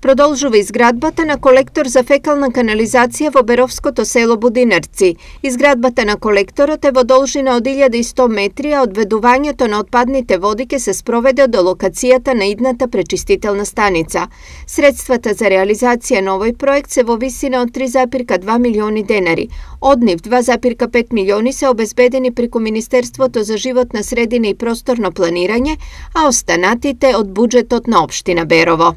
Продолжува изградбата на колектор за фекална канализација во Беровското село Будинарци. Изградбата на колекторот е во должина од 1100 метри, а одведувањето на отпадните води ќе се спроведе до локацијата на идната пречистителна станица. Средствата за реализација на овој проект се во висина од 3,2 милиони денари. Од нив 2,5 милиони се обезбедени преку Министерството за животна средина и просторно планирање, а останатите од буџетот на општина Берово.